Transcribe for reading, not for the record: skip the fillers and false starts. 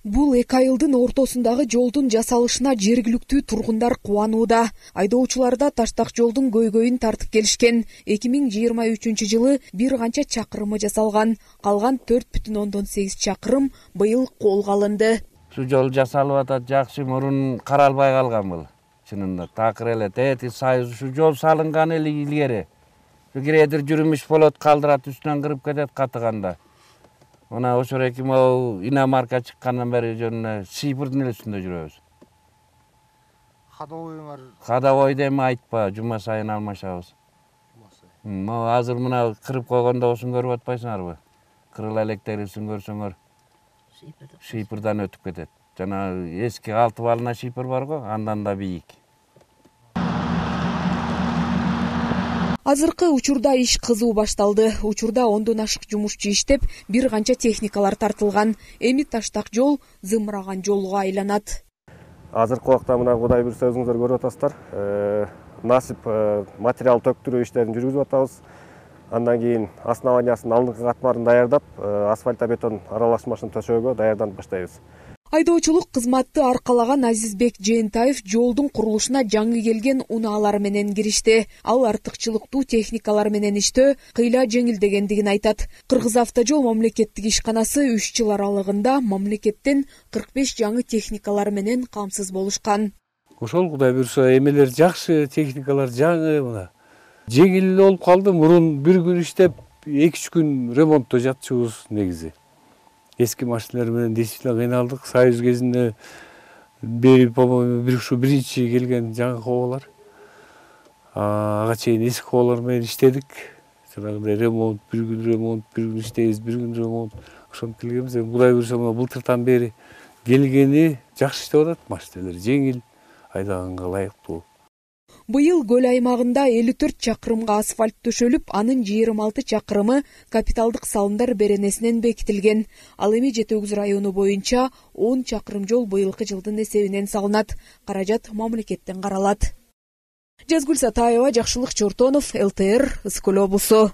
Бул эки айылдын ортосундагы жолдун жасалышына жергиликтүү тургундар кубанууда. Айдоочуларда таштак жолдун көйгөйүн тартып келишкен. 2023-жылы бир канча чакырымы жасалган. Калган 4,8 чакырым быйыл колго алынды. Şu жол жасалып атат, жакшы, мурун каралбай калган бул. Чынында такыр эле тети сайыз şu жол салынган эле илгери. Şu киредир жүрүмүш болот, калдырат, үстүнөн кырып кетет катыганда. Мына ошо эки могу иномарка чыккандан бери жөн Сыйпырдын эле үстүндө жүрөбүз. Ходовойуңар? Ходовойду эми айтпа, жума сайын алмашабыз. Могу азыр мына кырып койгондо осун көрүп атпайсыңарбы? Кырыла электерибизин көрсөңөр Сыйпырдан өтүп кетет. Жана эски 6 балына Сыйпыр бар го, андан да бийик. Азыркы учурда иш кызуу башталды. Учурда 10дон ашык жумушчу иштеп, бир канча техникалар тартылган. Эми таштак жол зымыраган жолго айланат. Азыркы убакта мына Кудай буйрса өзүңүздөр көрүп атасыздар. Насип материал төктүрүү иштерин жүргүзүп атабыз. Андан кийин основаниясын алдыңкы катмарын даярдап, асфальта бетон аралашмасын төшөөгө даярданып баштайбыз. Айдоочулук кызматты аркалаган Азизбек Жээнтаев жолдун курулушуна жаңы келген унаалар менен киришти. Ал артыкчылыктуу техникалар менен иштөө кыйла жеңилдегендигин айтат. Кыргызавтожол мамлекеттик ишканасы 3 жыл аралыгында мамлекеттен 45 жаңы техникалар менен камсыз болушкан. Ошол Кудай буйрса эмелер жакшы, техникалар жаңы мына. Жеңил болуп калды. Мурун бир күн иштеп, 2-3 күн ремонтто жатчубуз негизи. Эски машиналар менен действительно кыйналдык. Союз кезинде по-моему биринчи келген жаңы коболор. Ага чейин эски коболор менен иштедик. Жанагындай ремонт, бир күн иштейбиз, бир күн ремонт. Ошентип келгенбиз. Кудай буйрса мына былтыртан бери келгени жакшы иштеп атат. Машиналар жеңил, айдаганга ылайыктуу. Быйыл көл аймагында 54 чакырымга асфальт төшөлүп, анын 26 чакырымы капиталдык салымдар беренесинен бекитилген. Ал эми Жети Өгүз району боюнча 10 чакырым жол быйылкы жылдын эсебинен салынат. Каражат мамлекеттен каралат. Жазгүл Сатаева, Жакшылык Чортонов, ЛТР, Ысык Көл облусу.